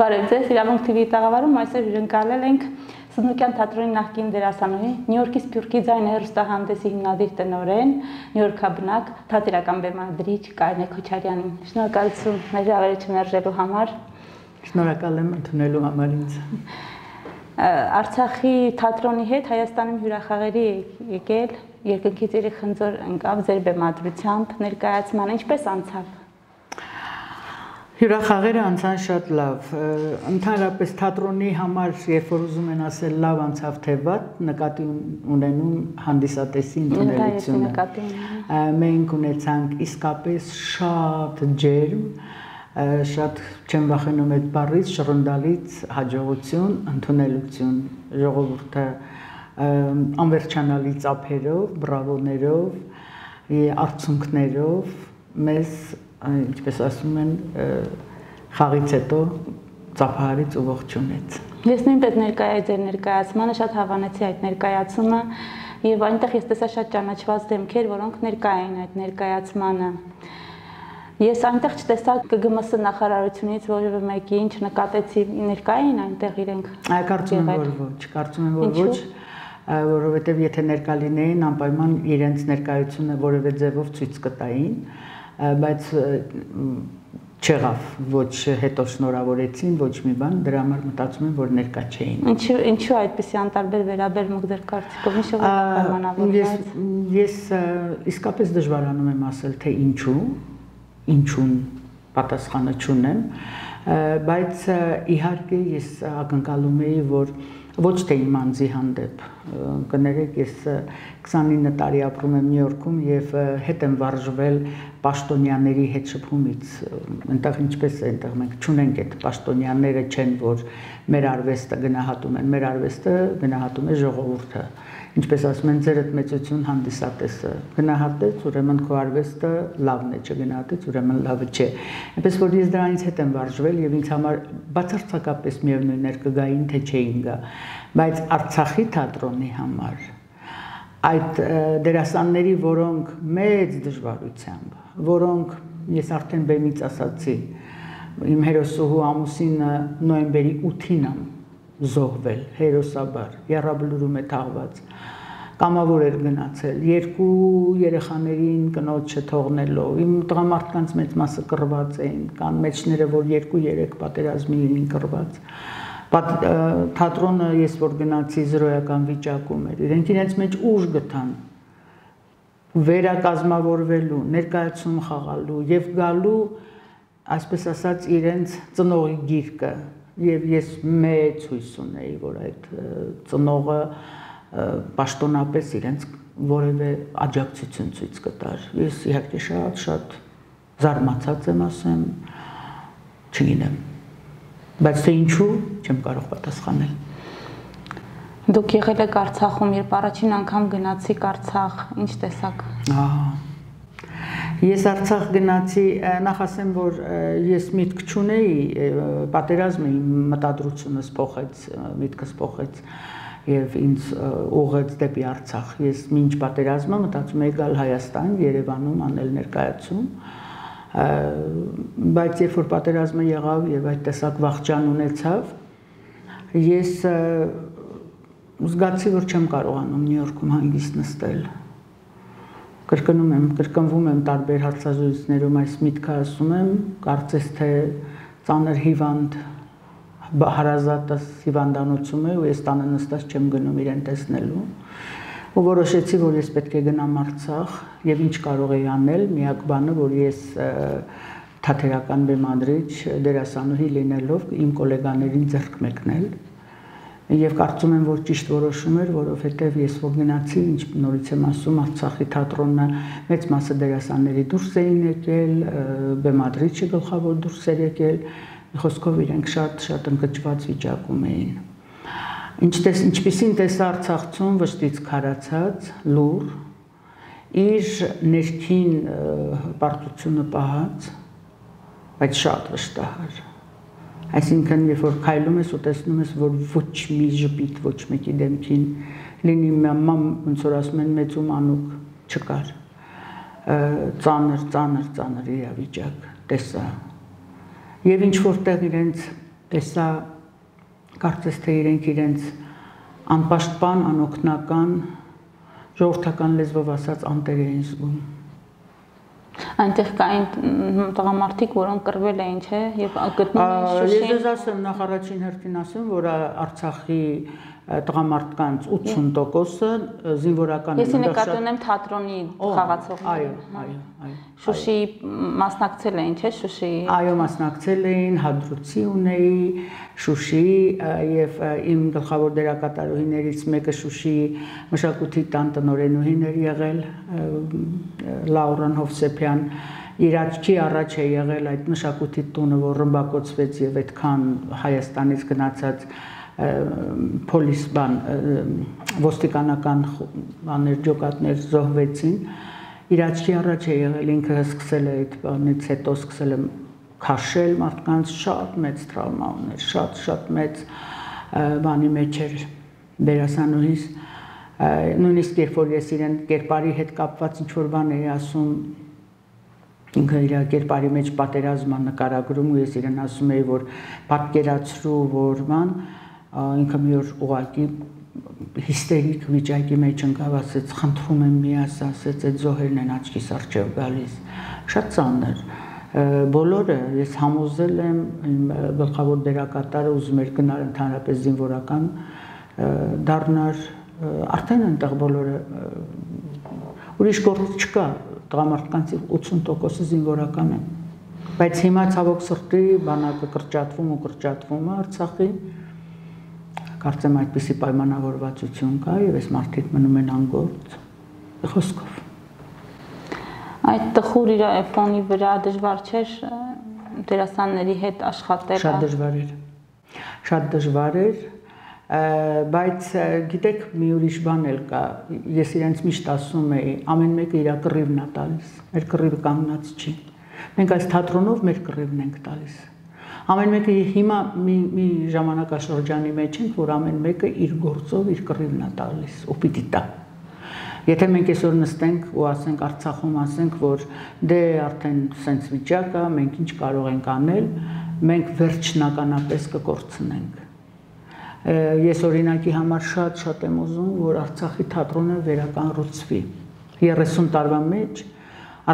Բարև ձեզ, Իրավունք TV-ի տաղավարում այսօր հյուրընկալել ենք Սնդուկյան թատրոնի նախկին դերասանուհի, Նյու Յորքի Սփյուռքի ձայնը հեռուստահանդեսի հիմնադիր տնօրեն, Նյու Յորքաբնակ, թատերական բեմադրիչ Կարինե Քոչարյանին։ Շնորհակալություն մեր հավերժությունն արժելու համար։ Շնորհակալ եմ ընդունելու համար ինձ։ Արցախի թատրոնի հետ Հայաստանում հյուրախաղերի եկել, երկնքից իրի խնձոր ընկավ ձեր բեմադրությամբ, ներկայացմանը ինչպես անցավ։ Հյուրախաղերը անցան շատ լավ, ընդհանրապես թատրոնի համար, երբ որ ուզում են ասել լավ անցավ թե վատ, նկատի ունենում հանդիսատեսի ընդունելությունը։ Մենք ունեցանք իսկապես շատ ջերմ, շատ չեմ վախենում այդ բառից, շռնդալից հաջողություն, ընդունելություն, ժողովուրդը անվերջանալի ծափերով, բրավոներով, արդյունքներով մեզ ինչպես ասում են, խաղից հետո ծափահարից ու ողջունեց։ Ես նույնպես ներկայացի ձեր ներկայացմանը, շատ հավանեցի այդ ներկայացումը եւ այնտեղ ես տեսա շատ ճանաչված դեմքեր, որոնք ներկայ էին այդ ներկայացմանը։ Ես այնտեղ չտեսա ԿԳՄՍ նախարարությունից որևէ մեկի, ինչ նկատեցի, ներկայ էին այնտեղ իրենք։ Կարծում եմ, որ ոչ, կարծում եմ, որ ոչ, որովհետեւ եթե ներկա լինեին, անպայման իրենց ներկայությունը որևէ ձևով ցույց կտային, բայց չեղավ, ոչ հետո շնորհավորեցին, ոչ մի բան, դրա համար մտածում եմ, որ ներկա չէին։ Ինչու այդպեսի անտարբեր վերաբերմունք ձեր կարծիքով, ինչ պայմանավորված։ Ես իսկապես դժվարանում եմ ասել, թե ինչուն պատասխանը չունեմ, բայց իհարկե ես ակնկալում էի, որ ոչ թե իմ անձի հանդեպ, կներեք, ես 29 տարի ապրում եմ Նյու Յորքում եւ հետ եմ վարժվել պաշտոնյաների հետ շփումից, այնտեղ ինչպես է, այնտեղ մենք չունենք այդ պաշտոնյաները չեն, որ մեր արվեստը գնահատում են, մեր արվեստը գնահատում է ժողովուրդը, ինչպես ասում են, ձերդ մեծություն հանդիսատեսը գնահատեց, ուրեմն քո արվեստը լավն է, չգնահատեց, ուրեմն լավը չէ։ Այնպես որ ես դրանից հետ եմ վարժվել եւ ինձ համար բացարձակապես միևնույն էր կգային թե չէին գա, բայց Արցախի թատրոնի համար այդ դերասանների, որոնք մեծ դժվարությամբ, որոնք ես արդեն բեմից ասացի, իմ հերոսուհու ամուսինը նոյեմբերի 8-ին զոհվել, հերոսաբար, եռաբլուրում է թաղված, կամավոր էր գնացել, երկու երեխաներին կնոջ չթողնելով, իմ տղամարդկանց մեծ մասը կռված էին, կան մեջները, որ 2-3 պատերազմի էին կռված, թատրոնը ես որ գնացի զրոյական վիճակում էր, իրենց մեջ ուժ գտան, վերակազմավորվելու, ներկայացում խաղալու և գալու, այսպես ասած, իրենց ծնողի գիրկը, և ես մեծ հույս ունեի, որ այդ ծնողը պաշտոնապես իրենց որևէ աջակցություն ցույց կտար։ Ես իհարկե շատ զարմացած եմ ասեմ, չգիտեմ, բայց թե ինչու չեմ կարող պատասխանել։ Դուք եղել եք Արցախում, երբ առաջին անգամ գնացիք Արցախ, ինչ տեսաք։ Ես Արցախ գնացի, նախ ասեմ, որ ես միտք չունեի, պատերազմը իմ մտադրությունս փոխեց, միտքս փոխեց եւ ինձ ուղղեց դեպի Արցախ։ Ես մինչ պատերազմը մտածում էի գալ Հայաստան, Երևանում անել ներկայացում, բայց երբ որ պատերազմը եղավ եւ այդ տեսակ վախճան ունեցավ, ես զգացի, որ չեմ կարողանում Նյու Յորքում հանգիստ նստել։ Կրկնվում եմ տարբեր հարցազրույցներում այս միտքը ասում եմ, կարծես թե ծանր հիվանդ հարազատս հիվանդանոցում է ու ես տանը նստած չեմ գնում իրեն տեսնելու ու որոշեցի, որ ես պետք է գնամ Արցախ եւ ինչ կարող էի անել, միակ բանը, որ ես թատերական բեմադրիչ դերասանուհի լինելով իմ գոլեգաներին ձեռք մեկնել Եվ կարծում եմ, որ ճիշտ որոշում էր, որովհետև ես որ գնացի, ինչ նորից եմ ասում, Արցախի թատրոնը մեծ մասը դերասանների դուրս էին եկել, բեմադրիչը գլխավոր դուրս էր եկել, խոսքով իրենք շատ ընկճված վիճակում էին։ Ինչպիսին տեսա Արցախցուն վշտից քարացած, լուռ, իր ներքին պարտությունը պահած, բայց շատ վշտահար։ Այսինքն, երբ որ քայլում ես ու տեսնում ես, որ ոչ մի ժպիտ, ոչ մեկի դեմքին լինի ոնց որ ասում են մեծ ու մանուկ չկար, ծանր իրավիճակ տեսա։ Եվ ինչ որտեղ իրենց տեսա կարծես թե իրենց անպաշտպան, անօգնական, ժողովրդական լեզվով ասած անտեր էին զգում։ Այնտեղ կային տղամարդիկ, որոնք կռվել էին, չէ, եւ գտնում էին Շուշին։ Ես ասեմ, նախ առաջին հերթին ասեմ, որ Արցախի տղամարդկանց 80%-ը զինվորական են։ Ես նկատի ունեմ թատրոնի խաղացողները։ Այո։ Շուշի մասնակցել էին, չէ, Շուշի։ Այո, մասնակցել էին, հադրուցի ունեի Շուշիի եւ իմ գլխավոր դերակատարուհիներից մեկը Շուշիի մշակույթի տան տնօրենուհին էր եղել, Լաուրան Հովսեփյան, իր աչքի առաջ է եղել այդ մշակույթի տունը, որ ռմբակոծվեց եւ այդքան Հայաստանից գնացած պոլիս ոստիկանական բաներ ջոկատներ զոհվեցին, իր աչքի առաջ է եղել, ինքը սկսել է այդ բանից հետո սկսել է քաշել մարդկանց, շատ մեծ տրավմա ուներ, շատ մեծ բանի մեջ էր դերասանուհիս, նույնիսկ երբ որ ես իրեն կերպարի հետ կապված ինչ-որ բան էի ասում, ինքը իր կերպարի մեջ պատերազմը նկարագրում ու ես իրեն ասում էի, որ պատկերացրու, որ ման, ինքը մի օր ուղղակի հիստերիկ վիճակի մեջ ընկավ, ասեց, խնդրում եմ մի ասեց, այդ զոհերն են աչքիս առջև գալիս, շատ ծանր, բոլորը ես համոզել եմ, իմ գլխավոր դերակատարը ուզում էր գնալ ընդհանրապես զինվորական դառնար, արդեն այնտեղ բոլորը ուրիշ գործ չկա, տղամարդկանց 80%-ը զինվորական են, բայց հիմա ցավոք սրտի բանակը կրճատվում է Արցախի, կարծեմ այդպիսի պայմանավորվածություն կա եւ այս մարդիկ մնում են անգործ խոսքով։ Այդ տխուր իր ֆոնի վրա դժվար չէր դերասանների հետ աշխատել։ Շատ դժվար էր, բայց գիտեք մի ուրիշ բան էլ կա, ես իրենց միշտ ասում էի, ամեն մեկը իր կռիվն է տալիս, մեր կռիվը կանգնած չի։ Մենք այս թատրոնով մեր կռիվն ենք տալիս։ Ամեն մեկը հիմա մի ժամանակաշրջանի մեջ ենք, որ ամեն մեկը իր գործով իր կռիվն է տալիս ու պիտի տա։ Եթե մենք այսօր նստենք ու ասենք Արցախում ասենք, որ դե արդեն սենց վիճակ է, մենք ինչ կարող ենք անել, մենք վերջնականապես կկորցնենք։ Ես օրինակի համար շատ եմ ուզում, որ Արցախի թատրոնը վերակառուցվի։ 30 տարվա մեջ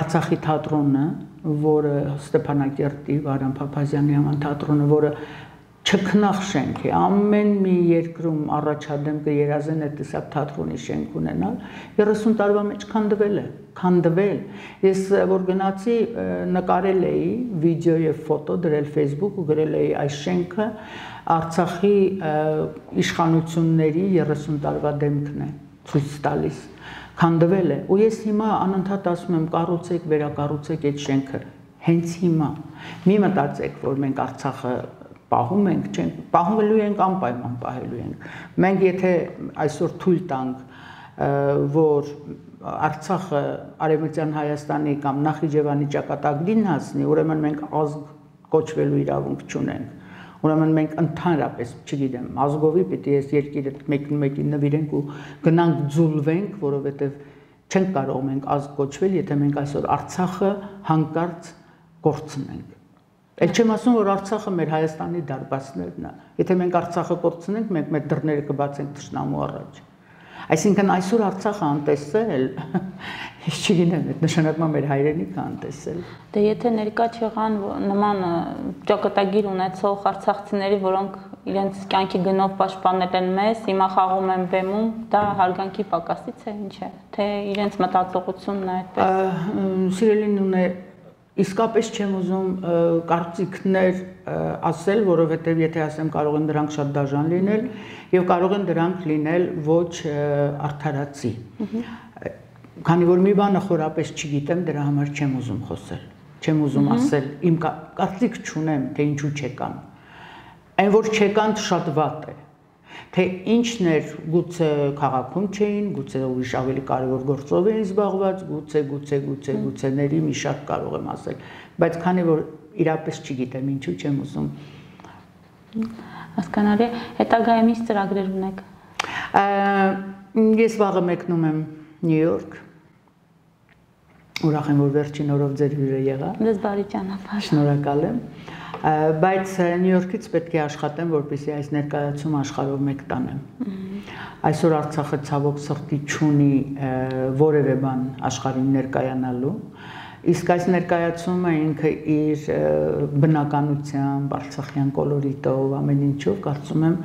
Արցախի թատրոնը, որը Ստեփանակերտի Վարան Փափազյանի անվան թատրոնը, որը չքնաղ շենք է, ամեն մի երկրում առաջադեմ կերազեն այդ տեսակ թատրոնի շենք ունենալ, 30 տարվա մեջ քանդվել։ Ես որ գնացի նկարել էի վիդեո եւ ֆոտո դրել Facebook ու գրել էի այս շենքը Արցախի իշխանությունների 30 տարվա դեմքն է ցույց տալիս։ Քանդվել է ու ես հիմա անընդհատ ասում եմ կառուցեք, վերակառուցեք այդ շենքը հենց հիմա։ Մի մտածեք, որ մենք Արցախը պահում ենք, չենք, պահելու ենք, անպայման պահելու ենք։ Մենք եթե այսօր թույլ տանք, որ Արցախը Արևմտյան Հայաստանի կամ Նախիջևանի ճակատագրին հասնի, ուրեմն մենք ազգ կոչվելու իրավունք չունենք։ Ուրեմն մենք ընդհանրապես, չգիտեմ, ազգովի պիտի ես երկիրը մեկին նվիրենք ու գնանք ձուլվենք, որովհետև չենք կարող մենք ազգ կոչվել, եթե մենք այսօր Արցախը հանկարծ կորցնենք։ Էլ չեմ ասում, որ Արցախը մեր Հայաստանի դարպասներն է։ Եթե մենք Արցախը կորցնենք, մենք մեր դռները կբացենք թշնամու առաջ։ Այսինքն այսօր Արցախը անտեսել, ես չգիտեմ, այդ նշանակում է մեր հայրենիքը անտեսել։ Դե եթե ներկա չեղան նման ճակատագիր ունեցող արցախցիների, որոնք իրենց կյանքի գնով պաշտպանել են մեզ, հիմա խաղում են բեմում, դա հարգանքի պակասից է, ինչ է, թե իրենց մտածողությունն է այդպես։ Սիրելին ունե իսկապես չեմ ուզում կարծիքներ ասել, որովհետև եթե ասեմ կարող են դրանք շատ դաժան լինել եւ կարող են դրանք լինել ոչ արդարացի։ Քանի որ մի բանը խորապես չգիտեմ, դրա համար չեմ ուզում խոսել, չեմ ուզում ասել, իմ կարծիք չունեմ, թե ինչու չեկան։ Այն որ չեկան շատ վատ է, թե ինչն էր, գուցե քաղաքում չէին, գուցե ուրիշ ավելի կարևոր գործով էին զբաղված, գուցե մի շատ կարող եմ ասել, բայց քանի որ իրապես չգիտեմ, ինչու չեմ ուզում։ Հասկանալի է, հետագայում ինչ ծրագրեր ունեք։ Ես վաղը մեկնում եմ Նյու Յորք, ուրախ եմ, որ վերջին օրով ձեր հյուրը եղա։ Ձեզ բարի ճանապարհ։ Շնորհակալ եմ։ Բայց Նյու Յորքից պետք է աշխատեմ, որպեսզի այս ներկայացումը աշխարհով մեկ տանեմ։ Այսօր Արցախը ցավոք սրտի չունի որևէ բան աշխարհին ներկայանալու, իսկ այս ներկայացումը ինքը իր բնականությամբ, արցախյան կոլորիտով, ամեն ինչով կարծում եմ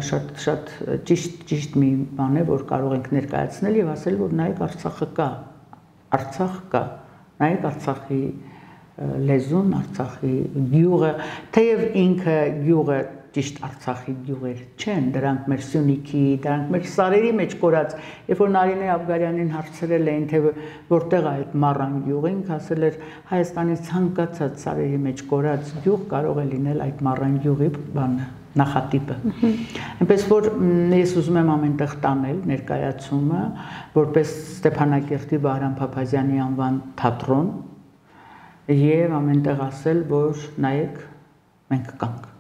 շատ ճիշտ մի բան է, որ կարող ենք ներկայացնել եւ ասել, որ նայեք Արցախը կա, Արցախ կա, նայեք Արցախի լեզուն, Արցախի գյուղը, թեև ինքը գյուղը ճիշտ Արցախի գյուղեր չեն, դրանք մեր Սյունիքի, դրանք մեր սարերի մեջ կորած, երբ որ Նարինե Աբգարյանին հարցրել էին, թե որտեղ է այդ Մառան գյուղը, ինքը ասել էր Հայաստանի ցանկացած սարերի մեջ կորած գյուղ կարող է լինել այդ Մառան գյուղի բանը, նախատիպը։ Այնպես որ ես ուզում եմ ամենտեղ տանել ներկայացումը, որպես Ստեփանակերտի Վահրամ Փափազյանի անվան թատրոն եւ ամենտեղ ասել, որ նայեք, մենք կանք։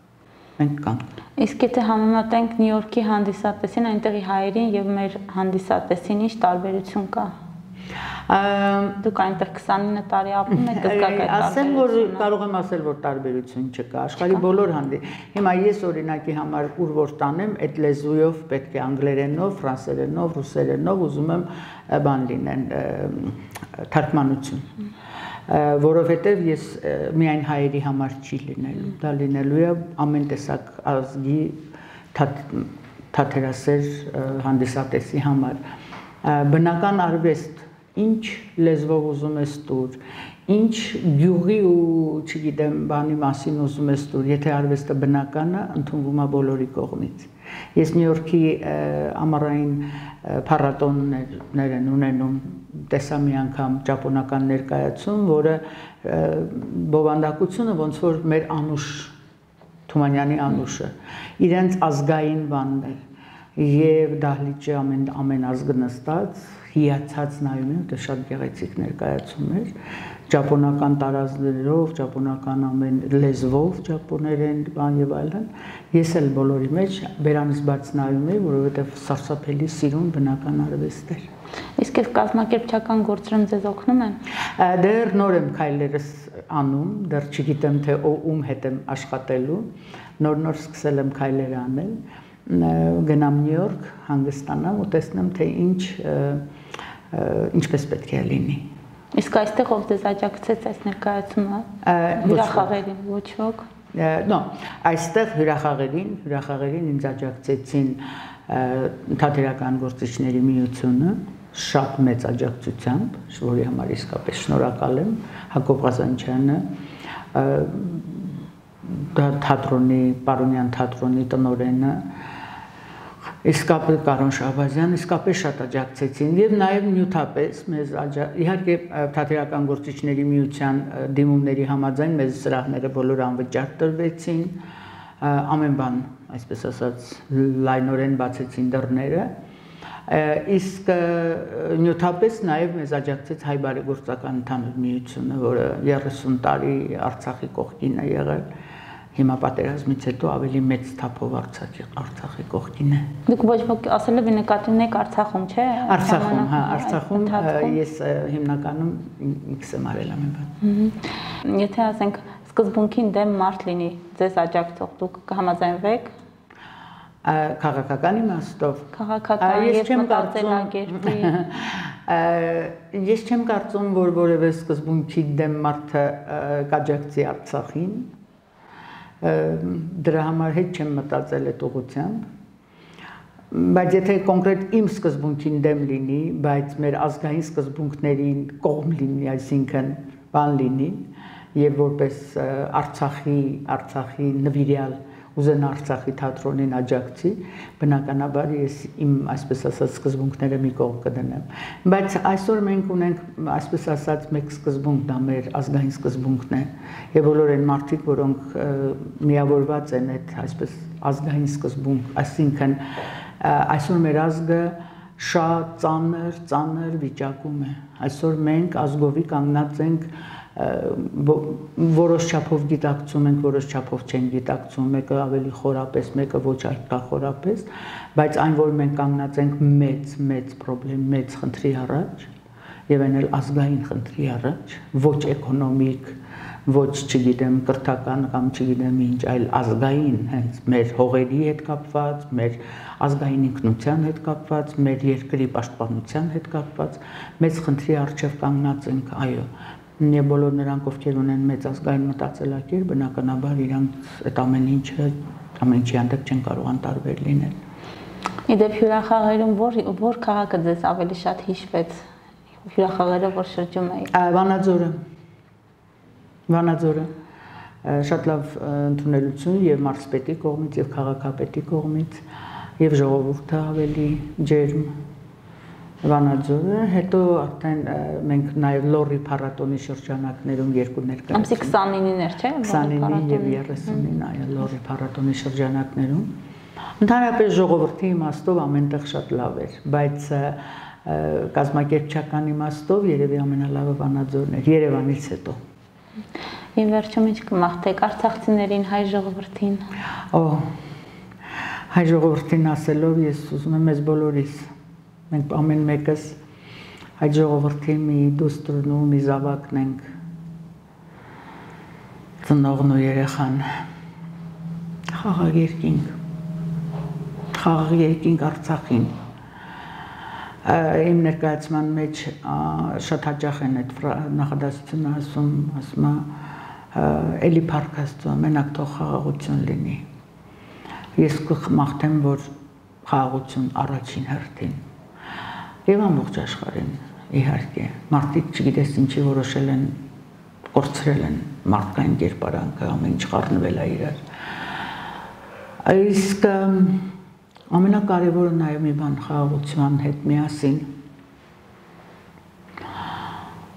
Մենք կանք։ Իսկ եթե համեմատենք Նյու Յորքի հանդիսատեսին, այնտեղի հայերին եւ մեր հանդիսատեսին ինչ տարբերություն կա։ Դուք այնտեղ 29 տարի ապրում եք, կզգաք այդ ասեմ, որ կարող եմ ասել, որ տարբերություն չկա։ Աշխարհի բոլոր հիմա ես օրինակի համար ուր որ տանեմ, այդ լեզուով պետք է անգլերենով, ֆրանսերենով, ռուսերենով ուզում եմ բան լինեն, թարգմանություն։ Որովհետև ես միայն հայերի համար չի լինելու, դա լինելու է ամեն տեսակ ազգի թատերասեր հանդիսատեսի համար։ Բնական արվեստ, ինչ լեզվով ուզում ես տուր, ինչ գյուղի ու չգիտեմ բանի մասին ուզում ես տուր, եթե արվեստը բնական է, ընդունվում է բոլորի կողմից։ Ես Նյու Յորքի ամառային փառատոններ են ունենում, տեսա մի անգամ ճապոնական ներկայացում, որը բովանդակությունը ոնց որ մեր Անուշ Թումանյանի Անուշը, իրենց ազգային բանն է, եւ դահլիճը ամեն ազգը նստած, հիացած նայում են, դա շատ գեղեցիկ ներկայացում էր, ճապոնական տարազներով, ճապոնական ամեն լեզվով, ճապոներեն, բան եւ այլն։ Ես էլ բոլորի մեջ բերանից բաց նայում եի, որովհետեւ սարսափելի սիրուն բնական արվեստ էր։ Իսկ այս կազմակերպչական գործերում ձեզ օգնում են։ Դեռ նոր եմ քայլերս անում, դեռ չգիտեմ թե ում հետ եմ աշխատելու, նոր սկսել եմ քայլեր անել, գնամ Նյու Յորք, հանգստանամ ու տեսնեմ թե ինչպես պետք է լինի։ Իսկ այստեղ ով ձեզ աջակցեց այս ներկայացումը, հյուրախաղերին, ոչ ոք։ No, այստեղ հյուրախաղերին ինձ աջակցեցին թատերական գործիչների միությունը, շատ մեծ աջակցությամբ, որի համար իսկապես շնորհակալ եմ, Հակոբ Ղազանչյանը, թատրոնի, Պարոնյան թատրոնի տնօրենը, իսկապես Կարոն Շահբազյան, իսկապես շատ աջակցեցին եւ նաեւ նյութապես մեզ իհարկե թատերական գործիչների միության դիմումների համաձայն մեզ սրահները բոլոր անվճար տրվեցին, ամեն բան, այսպես ասած, լայնորեն բացեցին դռները, իսկ նյութապես նաեւ մեզ աջակցեց Հայ բարեգործական ընդհանուր միությունը, որը 30 տարի Արցախի կողքին է եղել։ Հիմա պատերազմից հետո ավելի մեծ թափով Արցախի կողքին է։ Դուք ոչ ոք ասելով նկատի ունեք Արցախում, չէ՞։ Արցախում, հա, Արցախում ես հիմնականում ինքս եմ արել ամեն բան։ Եթե ասենք սկզբունքին դեմ մարդ լինի, ձեզ աջակցող, դուք կհամաձայնվեք։ Քաղաքական իմաստով։ Քաղաքական եւ մտածելակերպի։ Ես չեմ կարծում, որ որևէ սկզբունքի դեմ մարդը կաջակցի Արցախին։ Դրա համար հետ չեմ մտածել այդ ուղղությամբ, բայց եթե կոնկրետ իմ սկզբունքին դեմ լինի, բայց մեր ազգային սկզբունքներին կողմ լինի, այսինքն բան լինի, եւ որպես Արցախի նվիրյալ ուզեն Արցախի թատրոնին աջակցի, բնականաբար ես իմ այսպես ասած սկզբունքները մի կողմ կդնեմ, բայց այսօր մենք ունենք այսպես ասած մեկ սկզբունք, դա մեր ազգային սկզբունքն է, եւ բոլոր այն մարդիկ, որոնք միավորված են այդ այսպես ազգային սկզբունք, այսինքն այսօր մեր ազգը շատ ծանր վիճակում է, այսօր մենք ազգովի կանգնած ենք որոշ չափով գիտակցում ենք, որոշ չափով չեն գիտակցում, մեկը ավելի խորապես, մեկը ոչ այդքան խորապես, բայց այն, որ մենք կանգնած ենք մեծ պրոբլեմ, մեծ խնդրի առաջ, եւ այն էլ ազգային խնդրի առաջ, ոչ էկոնոմիկ, ոչ չգիտեմ կրթական կամ չգիտեմ ինչ, այլ ազգային, հենց մեր հողերի հետ կապված, մեր ազգային ինքնության հետ կապված, մեր երկրի պաշտպանության հետ կապված, մեծ խնդրի առջև կանգնած ենք, այո։ Եվ բոլոր նրանք, ովքեր ունեն մեծ ազգային մտածելակերպ, բնականաբար իրանք այդ ամեն ինչի հանդեպ չեն կարող անտարբեր լինել։ Իդեպ հյուրախաղերում որ քաղաքը ձեզ ավելի շատ հիշվեց, հյուրախաղերով որ շրջում էի։ Վանաձորը շատ լավ ընդունելություն եւ մարզպետի կողմից եւ քաղաքապետի կողմից եւ ժողովուրդը ավելի ջերմ Վանաձորը, հետո արդեն մենք նաեւ Լորի փառատոնի շրջանակներում երկու ներկայացնում։ Ամսի 29-ներ, չէ՞։ 29 եւ 30-ին այո Լորի փառատոնի շրջանակներում։ Ընդհանրապես ժողովրդի իմաստով ամենտեղ շատ լավ էր, բայց կազմակերպչական իմաստով երևի ամենալավը Վանաձորն էր Երևանից հետո։ Եվ վերջում ինչ կմաղթեք արցախցիներին, հայ ժողովրդին։ Հայ ժողովրդին ասելով ես ուզում եմ մեզ բոլորիս, մենք ամեն մեկս հայ ժողովրդի մի դուստրն ու մի զավակն ենք, ծնողն ու երեխան, խաղաղ երկինք Արցախին։ Իմ ներկայացման մեջ շատ հաճախ են այդ նախադասությունը ասում էլի փառք Աստծո, մենակ թող խաղաղություն լինի։ Ես կմաղթեմ, որ խաղաղություն առաջին հերթին։ Եվ ամբողջ աշխարհին, իհարկե, մարդիկ չգիտես ինչի որոշել են, կորցրել են մարդկային կերպարանքը, ամեն ինչ խառնվել է իրար։ Իսկ ամենակարևորը նաև մի բան խաղաղության հետ միասին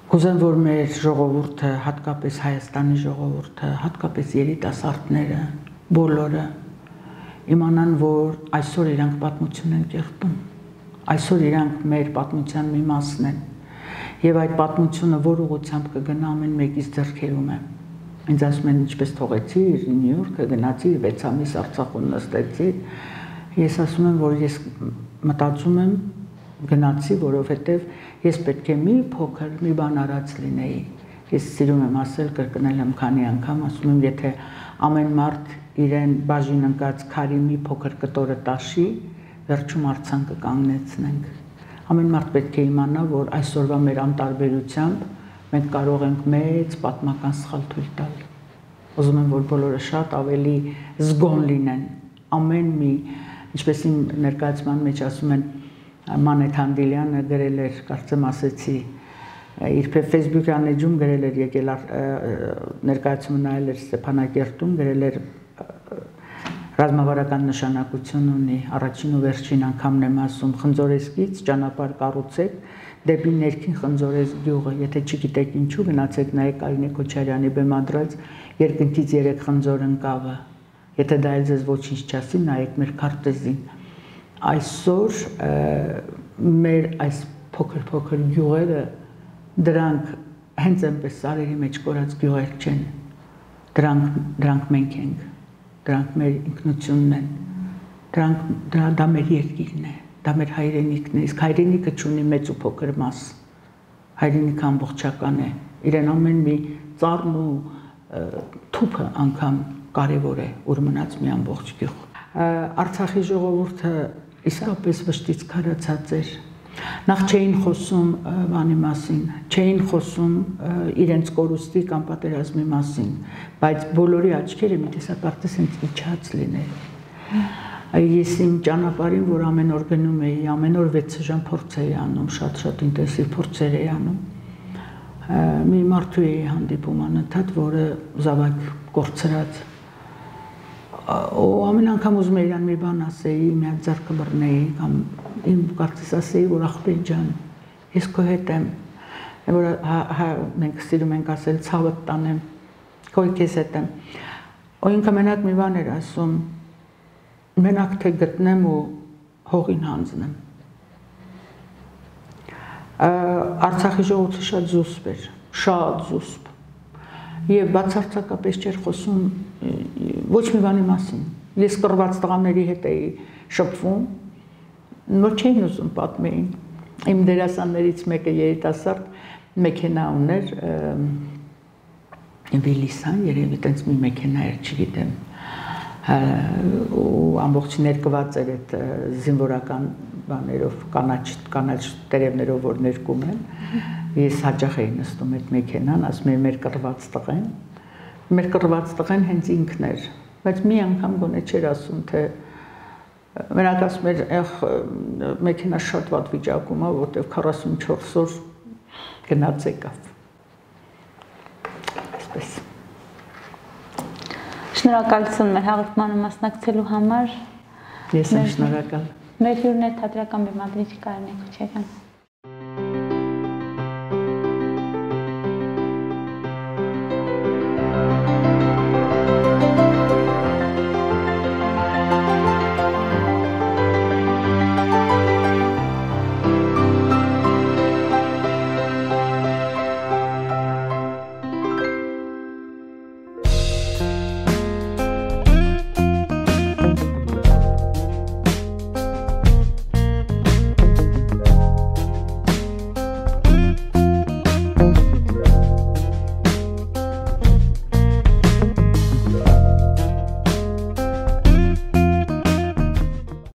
Կուզեմ, որ մեր ժողովուրդը, հատկապես Հայաստանի ժողովուրդը, հատկապես երիտասարդները, բոլորը իմանան, որ այսօր իրանք պատմություն են կերտում, այսօր իրանք մեր պատմության մի մասն են, եւ այդ պատմությունը որ ուղղությամբ կգնա ամեն մեկից ձեռքերում է։ Ինձ ասում են ինչպես թողեցիր Նյու Յորքը, գնացիր 6 ամիս Արցախում նստեցիր։ Ես ասում եմ, որ ես մտածում եմ գնացի, որովհետև ես պետք է մի փոքր մի բան արած լինեի։ Ես սիրում եմ ասել, կրկնել եմ քանի անգամ, ասում եմ, եթե ամեն մարդ իրեն բաժին ընկած քարի մի փոքր կտորը տաշի, վերջում արձան կկանգնեցնենք։ Ամեն մարդ պետք է իմանա, որ այսօրվա մեր անտարբերությամբ մենք կարող ենք մեծ պատմական սխալ թույլ տալ։ Ուզում եմ, որ բոլորը շատ ավելի զգոն լինեն, ամեն մի, ինչպես իմ ներկայացման մեջ ասում են, Մանեթ Հանդիլյանը գրել էր, կարծեմ ասեցի, իր Facebook-յան էջում գրել էր, եկել ներկայացումը նայել էր Ստեփանակերտում, գրել էր ռազմավարական նշանակություն ունի, առաջին ու վերջին անգամն եմ ասում, Խնձորեսկից ճանապարհ կառուցեք դեպի ներքին Խնձորես գյուղը, եթե չգիտեք ինչու, գնացեք նայեք Արինե Քոչարյանի բեմադրած երկնքից 3 խնձոր ընկավը, եթե դա էլ ձեզ ոչինչ չասի, նայեք մեր քարտեզին։ Այսօր մեր այս փոքր գյուղերը դրանք հենց այնպես սարերի մեջ կորած գյուղեր չեն, դրանք մենք ենք, դրանք մեր ինքնությունն են, դա մեր երկիրն է, դա մեր հայրենիքն է, իսկ հայրենիքը չունի մեծ ու փոքր մաս, հայրենիքը ամբողջական է, իրեն ամեն մի ծառն ու թուփը անգամ կարևոր է, ուր մնաց մի ամբողջ գյուղ։ Արցախի ժողովուրդը իսկապես վշտից քարացած էր, նախ չէին խոսում բանի մասին, չէին խոսում իրենց կորուստի կամ պատերազմի մասին, բայց բոլորի աչքերը մի տեսակարծես հենց իջած լինել։ Ես իմ ճանապարհին, որ ամեն օր գնում էի, ամեն օր 6 ժամ փորձ էի անում, շատ ինտենսիվ փորձեր էի անում, մի մարդու էի հանդիպում անընդհատ, որը զավակ կորցրած, ու ամեն անգամ ուզում էի իրան մի բան ասեի, մի հատ ձեռքը բռնեի կամ իմ կարծես ասեի, որ ախպեր ջան, ես քո հետ եմ, որ մենք սիրում ենք ասել ցավդ տանեմ, քո քեզ հետ եմ։ Ու ինքը մենակ մի բան էր ասում, մենակ թե գտնեմ ու հողին հանձնեմ։ Արցախի ժողովուրդը շատ զուսպ էր, շատ զուսպ։ Եվ բացարձակապես չէր խոսում ոչ մի բանի մասին։ Ես կռված տղաների հետ էի շփվում, որ չէին ուզում պատմեին։ Իմ դերասաններից մեկը երիտասարդ մեքենա ուներ, Վիլիսան, երևի տենց մի մեքենա էր, չգիտեմ, ու ամբողջ ներկված էր այդ զինվորական բաներով, կանաչ տերևներով, որ ներկում են, ես հաճախ էի նստում այդ մեքենան, ասում եմ մեր կռված տղեն հենց ինքն էր, բայց մի անգամ գոնե չէր ասում, թե մենակ ասում էր, մեքենա շատ վատ վիճակում է, որտեղ 44 օր գնաց եկավ, այսպես։ Շնորհակալություն մեր հաղորդմանը մասնակցելու համար։ Ես եմ շնորհակալ։ Մեր հյուրն է թատերական բեմադրիչ Կարինե Քոչարյանը։